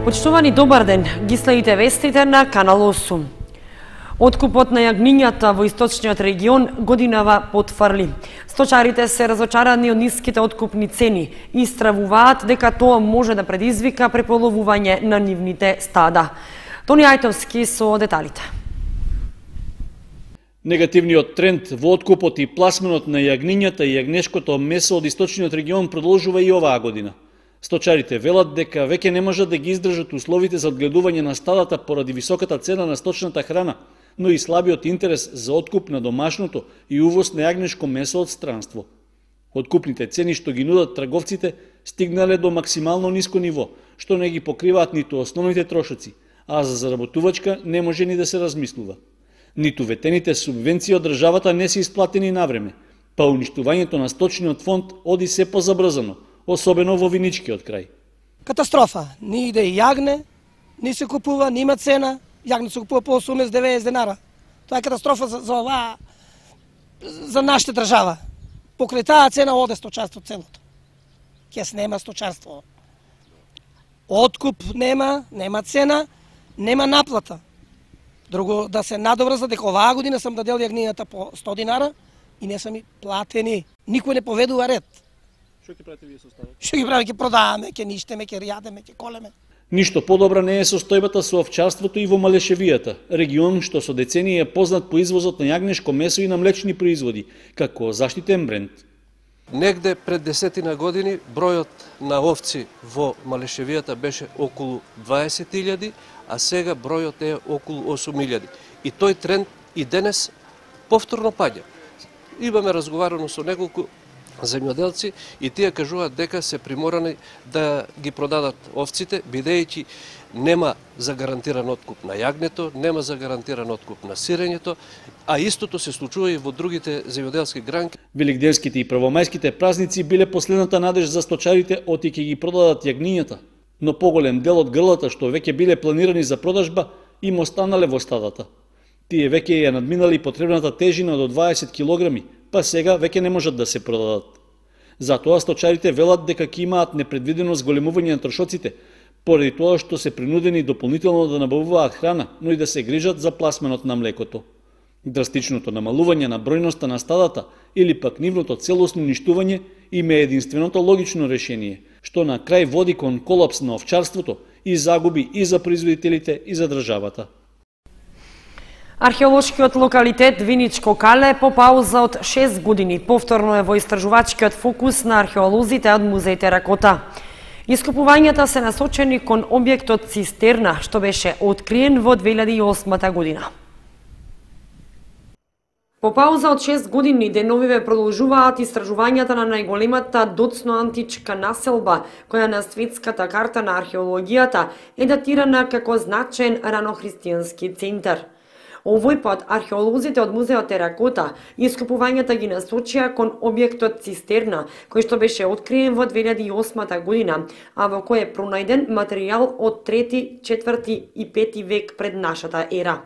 Почитувани, добар ден, ги следите вестите на Канал 8. Откупот на јагнињата во источниот регион годинава потврли. Сточарите се разочарани од ниските откупни цени и стравуваат дека тоа може да предизвика преполовување на нивните стада. Тони Ајтовски со деталите. Негативниот тренд во откупот и пласменот на јагнињата и јагнешкото месо од источниот регион продолжува и оваа година. Сточарите велат дека веќе не можат да ги издржат условите за одгледување на стадата поради високата цена на сточната храна, но и слабиот интерес за откуп на домашното и увоз на јагнешко месо од странство. Откупните цени што ги нудат трговците стигнале до максимално ниско ниво, што не ги покриваат ниту основните трошоци, а за заработувачка не може ни да се размислува. Ниту ветените субвенции од државата не се исплатени навреме, па уништувањето на сточниот фонд оди се позабрзано, особено во виничкиот крај. Катастрофа. Ни иде и јагне, ни се купува, ни има цена. Јагне се купува по 80-90 денара. Тоа е катастрофа за оваа, за нашата држава. Покрај таа цена оде сточарство целото. Кес нема сточарство. Откуп нема цена, нема наплата. Друго, да се надоврза дека оваа година сам дадел јагнињата по 100 динара и не сам и платени. Никој не поведува ред. Што ќе правите вие со стадот? Што ги правиме, ќе продаваме, ќе ништеме, ќе јадеме, ќе колеме. Ништо подобра не е состојбата со овчарството и во Малешевијата, регион што со децении е познат по извозот на јагнешко месо и на млечни производи, како заштитен бренд. Негде пред 10 години бројот на овци во Малешевијата беше околу 20.000, а сега бројот е околу 8.000. И тој тренд и денес повторно паѓа. Имаме разговарано со неколку земјоделци и тие кажуваат дека се приморани да ги продадат овците, бидејќи нема загарантиран откуп на јагнето, нема загарантиран откуп на сирењето, а истото се случува и во другите земјоделски гранки. Великденските и првомајските празници биле последната надеж за сточарите оти ќе ги продадат јагнињата, но поголем дел од грлата што веќе биле планирани за продажба им останале во стадата. Тие веќе ја надминали потребната тежина до 20 килограми, па сега веќе не можат да се продадат. Затоа сточарите велат дека ќе имаат непредвидено зголемување на трошоците, поради тоа што се принудени дополнително да набавуваат храна, но и да се грижат за пласменот на млекото. Драстичното намалување на бројноста на стадата или пак нивното целосно уништување им е единственото логично решение, што на крај води кон колапс на овчарството и загуби и за производителите и за државата. Археолошкиот локалитет Виничко Кале по пауза од 6 години повторно е во истражувачкиот фокус на археолозите од музеј Теракота. Искупувањата се насочени кон објектот цистерна, што беше откриен во 2008 година. По пауза од 6 години деновиве продолжуваат истражувањата на најголемата доцно античка населба, која на светската карта на археологијата е датирана како значаен ранохристијански центар. Овој пат археолозите од музејот Теракота искупувањата ги насочија кон објектот цистерна, кој што беше откриен во 2008 година, а во кој е пронајден материјал од 3, 4 и 5 век пред нашата ера.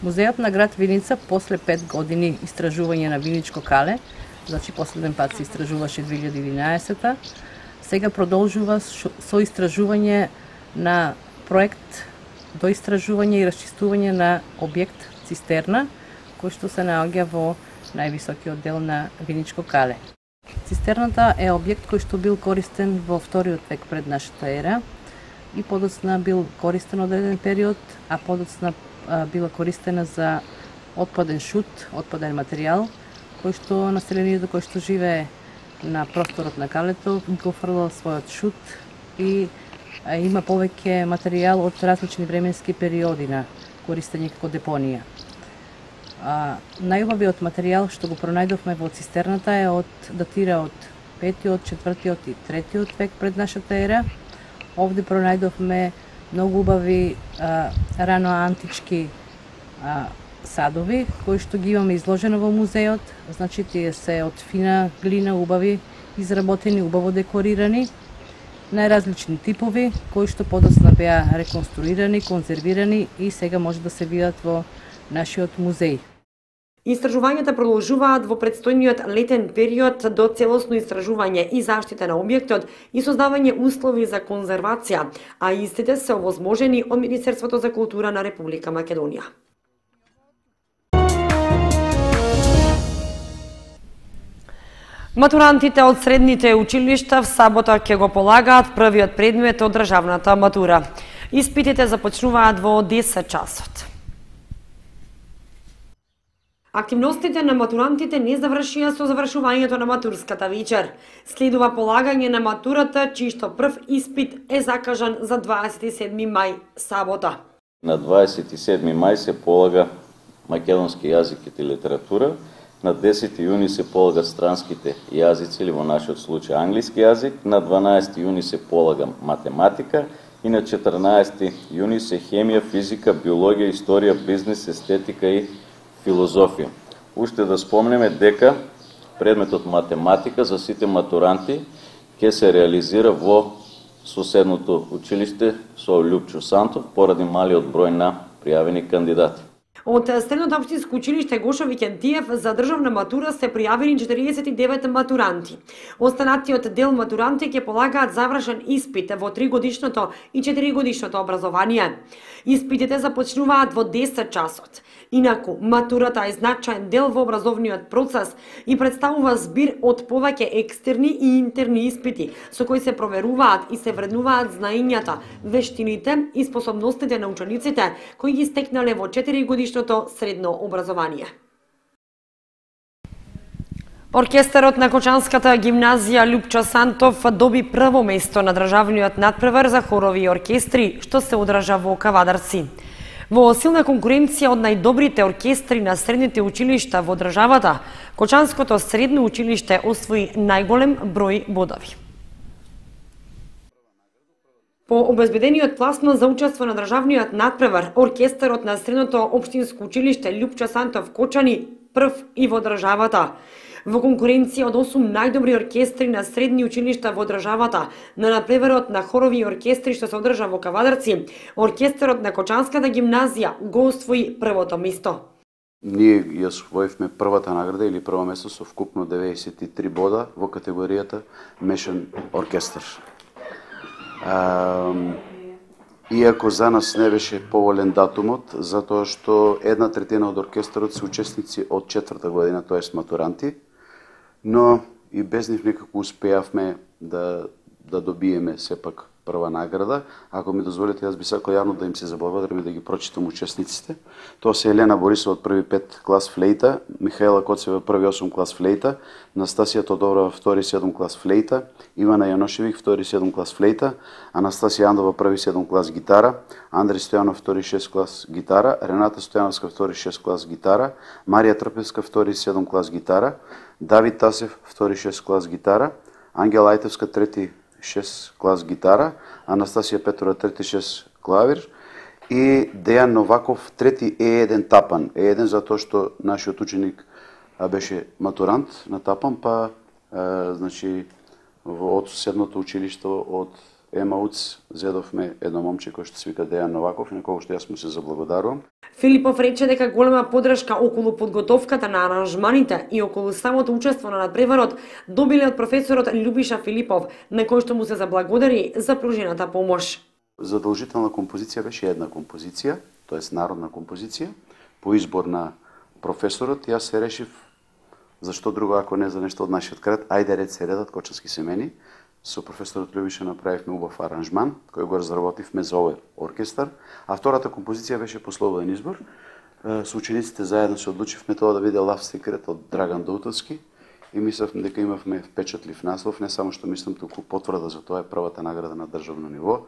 Музејот на град Виница после 5 години истражување на Виничко Кале, значи последен пат се истражуваше 2011, сега продолжува со истражување на проект до истражување и расчистување на објект цистерна, кој што се наоѓа во највисокиот дел на Виничко Кале. Цистерната е објект кој што бил користен во вториот век пред нашата ера и подоцна бил користен одреден период, а подоцна била користена за отпаден шут, отпаден материјал, кој што населението кој што живее на просторот на Калето го фрлал својот шут и има повеќе материјал од различни временски периоди на користење како депонија. Најубавиот материјал што го пронајдовме во цистерната е датира од 5, 4 и 3 век пред нашата ера. Овде пронајдовме многу убави рано-антички садови, кои што ги имаме изложено во музејот. Значи, тие се од фина глина, убави, изработени, убаво декорирани, најразлични типови, кои што подоцна беа реконструирани, конзервирани и сега може да се видат во нашиот музеј. Истражувањата продолжуваат во предстојниот летен период до целосно истражување и заштита на објектот и создавање услови за конзервација, а истите се овозможени од Министерството за култура на Република Македонија. Матурантите од средните училишта в сабота ќе го полагаат првиот предмет од државната матура. Испитите започнуваат во 10 часот. Активностите на матурантите не завршија со завршувањето на матурската вечер. Следува полагање на матурата, чијшто прв испит е закажан за 27 мај, сабота. На 27 мај се полага македонски јазик и литература, на 10 јуни се полагат странските јазици или во нашиот случај англиски јазик, на 12 јуни се полага математика и на 14 јуни се хемија, физика, биологија, историја, бизнес, естетика и филозофија. Уште да спомнеме дека предметот математика за сите матуранти ќе се реализира во соседното училиште со Лјупчо Сантов поради малиот број на пријавени кандидати. Од Средното општинско училиште Гошо Викентиев за државна матура се пријавени 49 матуранти. Останатиот дел матуранти ќе полагаат завршен испит во 3-годишното и 4-годишното образование. Испитите започнуваат во 10 часот. Инаку, матурата е значаен дел во образовниот процес и представува збир од повеќе екстерни и интерни испити, со кои се проверуваат и се вреднуваат знаењата, вештините и способностите на учениците кои ги стекнале во 4-годишното средно образование. Оркестарот на Кочанската гимназија Лјупчо Сантов доби прво место на државниот надпревар за хорови и оркестри, што се одржа во Кавадарци. Во силна конкуренција од најдобрите оркестри на средните училишта во државата, Кочанското средно училиште освои најголем број бодови. По обезбедениот пласман за учество на државниот надпревар, оркестарот на Средното општинско училиште Лјупчо Сантов Кочани прв и во државата. Во конкуренција од 8 најдобри оркестри на средни училишта во државата, на надпреварот на хорови и оркестри што се одржа во Кавадарци, оркестарот на Кочанската гимназија го освои првото место. Ние ја освоивме првата награда или прво место со вкупно 93 бода во категоријата мешан оркестар. Иако за нас не беше поволен датумот, затоа што 1/3 од оркестарот се учесници од 4-та година, тоест матуранти, но и без нив некако успеавме да добиеме сепак прва награда. Ако ми дозволите, јас би сакал јавно да им се заблагодарам и да ги прочитам учесниците. Тоа се Елена Борисова од први 5 клас флейта, Михаела Коцева први 8 клас флейта, Настасија Тодорова втори 7 клас флейта, Ивана Јаношевик втори 7 клас флейта, Анастасија Андова први 7 клас гитара, Андри Стојанов втори 6 клас гитара, Рената Стојановска втори 6 клас гитара, Марија Трпевска втори 7 клас гитара, Давид Тасев втори 6 клас гитара, Ангела Ајтевска трети 6 клас гитара, Анастасија Петрова трети 6 клавир и Дејан Новаков трети Е1 тапан. Е1 затоа што нашиот ученик беше матурант на тапан, па значи од соседното училиште од Емауц зедовме едно момче кој што се вика Дејан Новаков и на кого што јас му се заблагодарувам. Филипов рече дека голема поддршка околу подготовката на аранжманите и околу самото учество на надпреварот добиле од професорот Љубиша Филипов, на кој што му се заблагодари за пружената помош. Задолжителна композиција беше една композиција, тоест народна композиција, по избор на професорот. Јас се решив, зашто друго ако не за нешто од нашиот крат, ајде ред се редат Кочански семени. Со професорот Љубиша направивме убав аранжман, кој го разработивме за овој оркестар, а втората композиција беше по слободен избор. Со учениците заедно се одлучивме тоа да биде Love Secret од Драган Доутовски и мислевме дека имавме впечатлив наслов, не само што мислам, туку потврда за тоа е првата награда на државно ниво.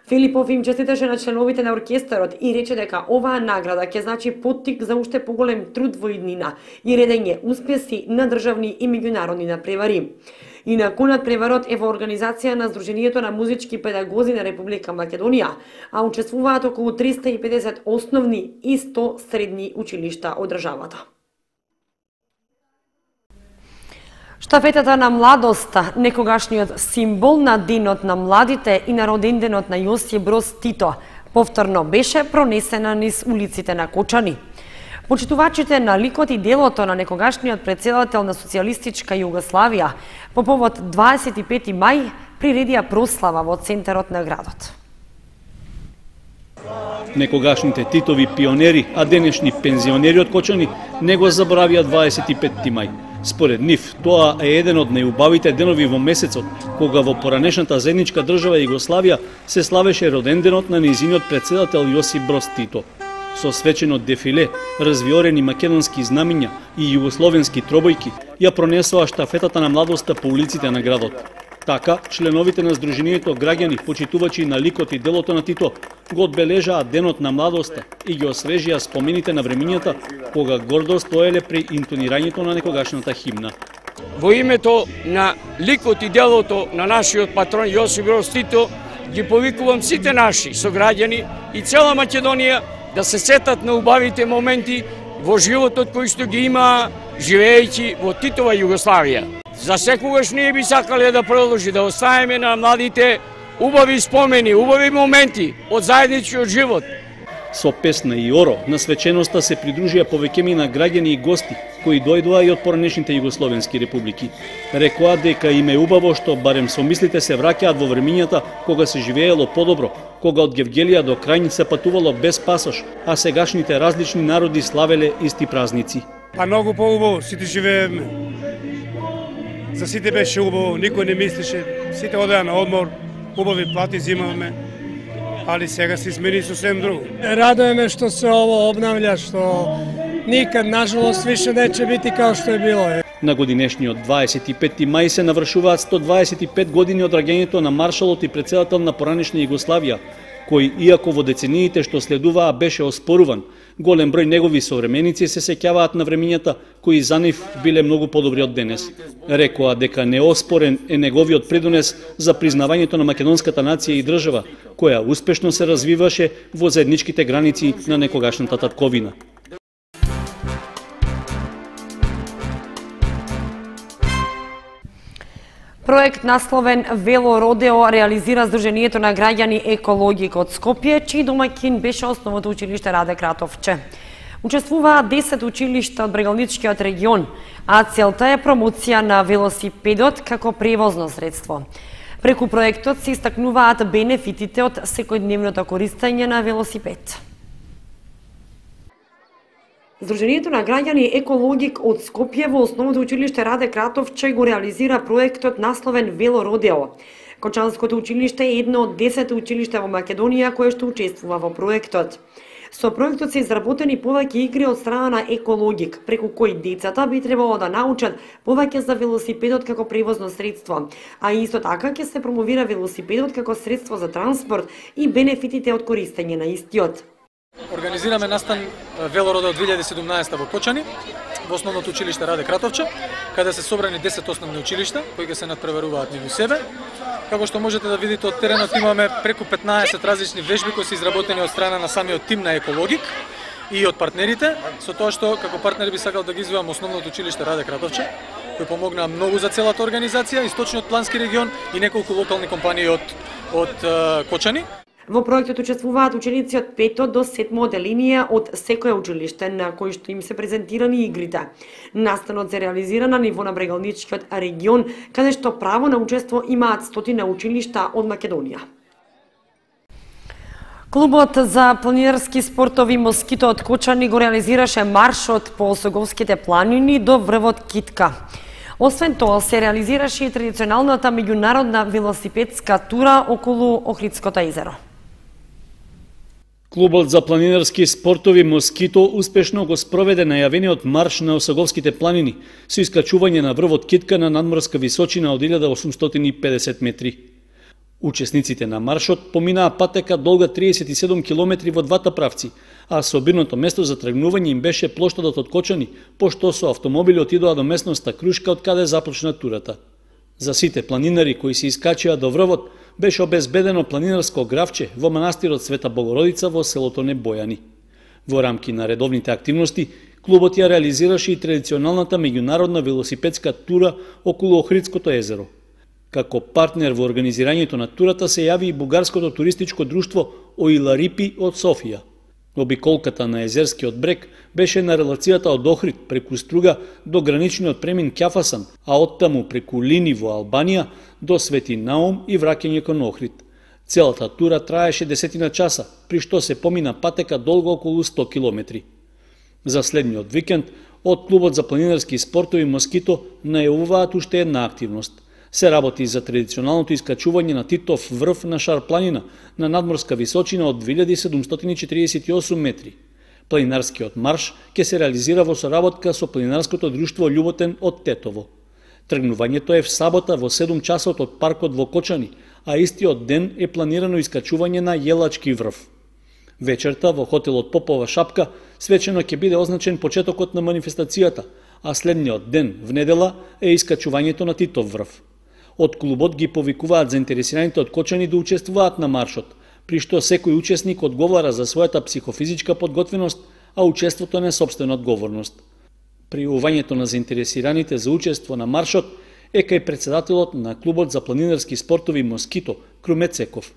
Филипов им честиташе на членовите на оркестарот и рече дека оваа награда ќе значи поттик за уште поголем труд во иднина и редење успеси на државни и меѓународни надпревари. Инаку надпреварот е во организација на Сдруженијето на музички педагози на Република Македонија, а учествуваат околу 350 основни и 100 средни училишта од државата. Штафетата на младоста, некогашниот символ на Денот на младите и на роденденот на Јосип Броз Тито, повторно беше пронесена низ улиците на Кочани. Почитувачите на ликот и делото на некогашниот председател на социјалистичка Југославија по повод 25 мај приредија прослава во центарот на градот. Некогашните Титови пионери, а денешни пензионери од Кочани не го заборавија 25 мај. Според нив, тоа е еден од најубавите денови во месецот, кога во поранешната заедничка држава Југославија се славеше роденденот на нејзиниот председател Јосип Броз Тито. Со свечено дефиле, развиорени македонски знамиња и југословенски тробојки ја пронесоа штафетата на младоста по улиците на градот. Така, членовите на Сдруженијето граѓани, почитувачи на ликот и делото на Тито, го одбележаа денот на младоста и ги освежија спомените на времињата кога гордо стоеле при интонирањето на некогашната химна. Во името на ликот и делото на нашиот патрон Јосип Броз Тито ги повикувам сите наши сограѓани и цела Македонија да се сетат на убавите моменти во животот кои што ги имаа живеејќи во Титова Југославија. За секогаш ние би сакале да продолжи да оставиме на младите убави спомени, убави моменти од заедничкиот живот. Со песна и оро на свеченоста се придружија повеќеми на граѓани и гости кои дојдоа и од поранешните југословенски републики. Рекоа дека им е убаво што барем со мислите се враќаат во времињата кога се живеело подобро, кога од Гевгелија до Крајн се патувало без пасош, а сегашните различни народи славеле исти празници. А многу поубаво, сите живееме. За сите беше убаво, никој не мислеше, сите одеа на одмор, убави плати зимавме, али сега се измени сосем друго. Радуеме што се ово обнавља, што никад, нажалост, више нече бити као што е било. На годинешниот 25 мај се навршуваат 125 години од раѓањето на маршалот и председател на поранешна Југославија, кој, иако во децениите што следуваа беше оспоруван, голем број негови современици се сеќаваат на времињата кои за нив биле многу подобри од денес. Рекоа дека неоспорен е неговиот предонес за признавањето на македонската нација и држава, која успешно се развиваше во заедничките граници на некогашната татковина. Проект насловен Вело Родео реализира Сдруженијето на граѓани Екологик од Скопје, чиј домаќин беше основното училиште Раде Кратовче. Учествуваа 10 училишта од Брегалничкиот регион, а целта е промоција на велосипедот како превозно средство. Преку проектот се истакнуваат бенефитите од секојдневното користење на велосипед. Сдруженијето на граѓани Екологик од Скопје во основното училиште Раде Кратовче го реализира проектот насловен Вело Родео. Кочанското училиште е едно од 10 училишта во Македонија кое што учествува во проектот. Со проектот се изработени повеќе игри од страна на Екологик, преку кои децата би требало да научат повеќе за велосипедот како превозно средство, а исто така ќе се промовира велосипедот како средство за транспорт и бенефитите од користење на истиот. Организираме настан Вело Родео 2017 во Кочани, во основното училиште Раде Кратовче, каде се собрани 10 основни училишта, кои ќе се надпреваруваат меѓу себе. Како што можете да видите од теренот, имаме преку 15 различни вежби кои се изработени од страна на самиот тим на Екологик и од партнерите, со тоа што како партнери би сакал да ги извојам основното училиште Раде Кратовче, кои помогнаа многу за целата организација, источниот плански регион и неколку локални компании од Кочани. Во проектот учествуваат ученици од 5 до 7 оделинија од секое училиште на кои што им се презентирани игрите. Настанот се реализира на ниво на Брегалничкиот регион, каде што право на учество имаат 100 училишта од Македонија. Клубот за планинарски спортови Москито од Кочани го реализираше маршот по Осоговските планини до врвот Китка. Освен тоа се реализираше и традиционалната меѓународна велосипедска тура околу Охридското езеро. Клубот за планинарски спортови Москито успешно го спроведе најавениот марш на Осоговските планини со искачување на врвот Китка на надморска височина од 1850 метри. Учесниците на маршот поминаа патека долга 37 километри во двата правци, а собирното место за тргнување им беше плоштадот од Кочани, пошто со автомобили отидоа до местноста Крушка од каде започна турата. За сите планинари кои се искачија до врвот, беше обезбедено планинарско гравче во манастирот Света Богородица во селото Небојани. Во рамки на редовните активности, клубот ја реализираше и традиционалната меѓународна велосипедска тура околу Охридското езеро. Како партнер во организирањето на турата се јави и бугарското туристичко друштво Оиларипи од Софија. Обиколката на Езерскиот брег беше на релацијата од Охрид преку Струга до граничниот премин Ќафасан, а оттаму преку Лини во Албанија до Свети Наум и враќање кон Охрид. Целата тура траеше 10 часа, при што се помина патека долго околу 100 километри. За следниот викенд, од клубот за планинарски спортови Москито најавуваат уште една активност. Се работи за традиционалното искачување на Титов врв на Шар планина на надморска височина од 2748 метри. Планинарскиот марш ќе се реализира во соработка со планинарското друштво Љуботен од Тетово. Тргнувањето е в сабота во 7 часот од паркот во Кочани, а истиот ден е планирано искачување на Јелачки врв. Вечерта во хотелот Попова шапка свечено ќе биде означен почетокот на манифестацијата, а следниот ден, в недела, е искачувањето на Титов врв. Од клубот ги повикуваат заинтересираните од Кочани да учествуваат на маршот, при што секој учесник одговара за својата психофизичка подготвеност, а учеството не сопствена одговорност. Пријавувањето на заинтересираните за учество на маршот е кај председателот на клубот за планинарски спортови Москито, Круме Цеков.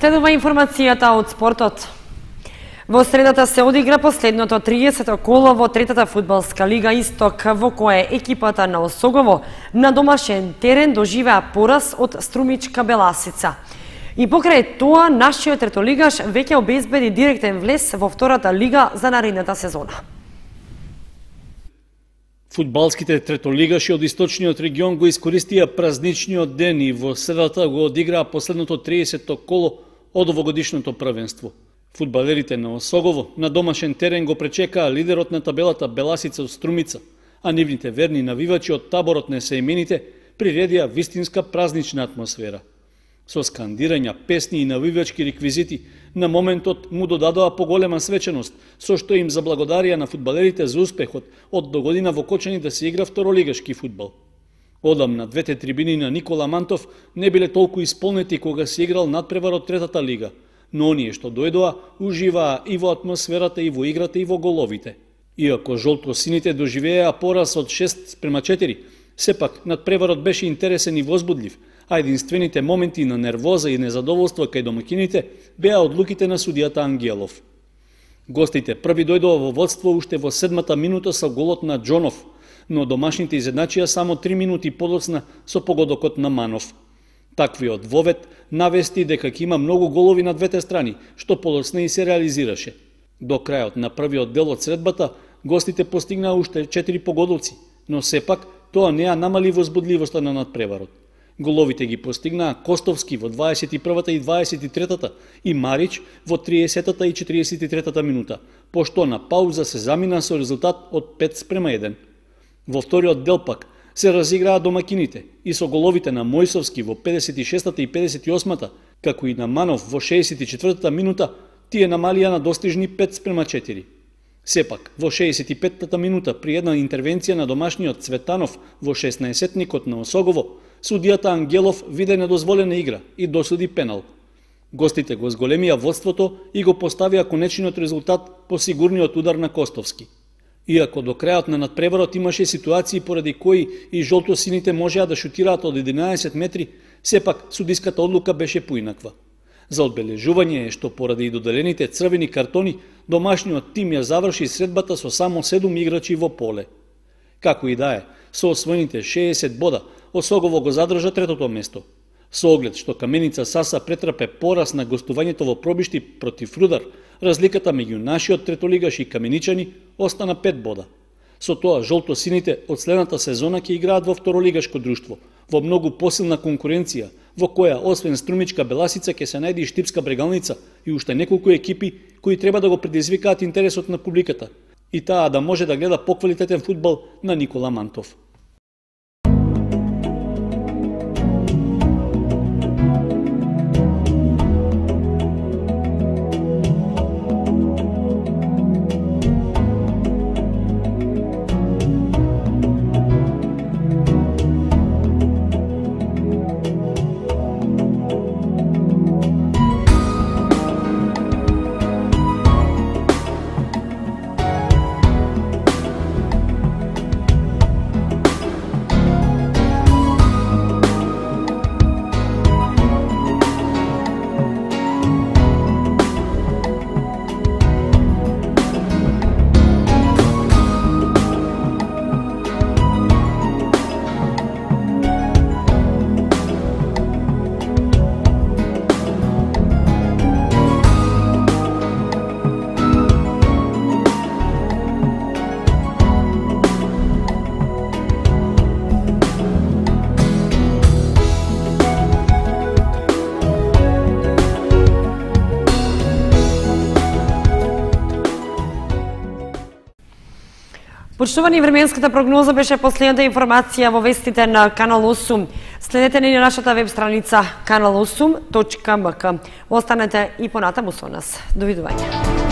Следува информацијата од спортот. Во средата се одигра последното 30-то коло во третата фудбалска лига Исток, во кое екипата на Осогово на домашен терен доживеа пораз од Струмичка Беласица. И покрај тоа, нашиот третолигаш веќе обезбеди директен влез во втората лига за наредната сезона. Фудбалските третолигаши од источниот регион го искористија празничниот ден и во средата го одиграа последното 30-то коло од овогодишното првенство. Фудбалерите на Осогово на домашен терен го пречекаа лидерот на табелата Беласица од Струмица, а нивните верни навивачи од таборот на Сеимените приредија вистинска празнична атмосфера. Со скандирања, песни и навивачки реквизити, на моментот му додадоа поголема свеченост, со што им заблагодарија на фудбалерите за успехот од догодина во Кочани да се игра второлигашки фудбал. Одамна двете трибини на Никола Мантов не биле толку исполнети кога се играл надпревар од третата лига, но оние што дојдоа уживаа и во атмосферата, и во играта, и во головите. Иако жолто-сините доживеа пораз од 6:4, сепак надпреварот беше интересен и возбудлив, а единствените моменти на нервоза и незадоволство кај домакините беа одлуките на судијата Ангелов. Гостите први дојдоа во водство уште во 7-та минута со голот на Џонов, но домашните изедначија само 3 минути подоцна со погодокот на Манов. Таквиот вовет навести дека ќе има многу голови на двете страни, што подоцна и се реализираше. До крајот на првиот дел од средбата, гостите постигнаа уште 4 погодоци, но сепак тоа не ја намали возбудливоста на надпреварот. Головите ги постигнаа Костовски во 21-та и 23-та и Марич во 30-та и 43-та минута, пошто на пауза се замина со резултат од 5:1. Во вториот дел пак се разиграа домакините и со головите на Мојсовски во 56-та и 58-та, како и на Манов во 64-та минута, тие намалија на достижни 5:4. Сепак, во 65-та минута, при една интервенција на домашниот Цветанов во 16-никот на Осогово, судијата Ангелов виде недозволена игра и досуди пенал. Гостите го зголемија водството и го поставија конечниот резултат по сигурниот удар на Костовски. Иако до крајот на надпреварот имаше ситуации поради кои и жолто-сините можеа да шутираат од 11 метри, сепак судиската одлука беше поинаква. За одбележување е што поради доделените црвени картони, домашниот тим ја заврши средбата со само 7 играчи во поле. Како и да е, со освоените 60 бода, Осогово го задржа третото место. Со оглед што Каменица Саса претрпе пораз на гостувањето во пробишти против Рудар, разликата меѓу нашиот третолигаш и каменичани остана 5 бода. Со тоа жолто-сините од следната сезона ќе играат во второлигашко друштво, во многу посилна конкуренција, во која освен Струмичка Беласица ќе се најде и Штипска Брегалница и уште неколку екипи кои треба да го предизвикаат интересот на публиката и таа да може да гледа поквалитетен фудбал на Никола Мантов. Почитувани, временската прогноза беше последната информација во вестите на Канал 8. Следете ни на нашата веб страница kanal8.mk. Останете и понатаму со нас. Довидување.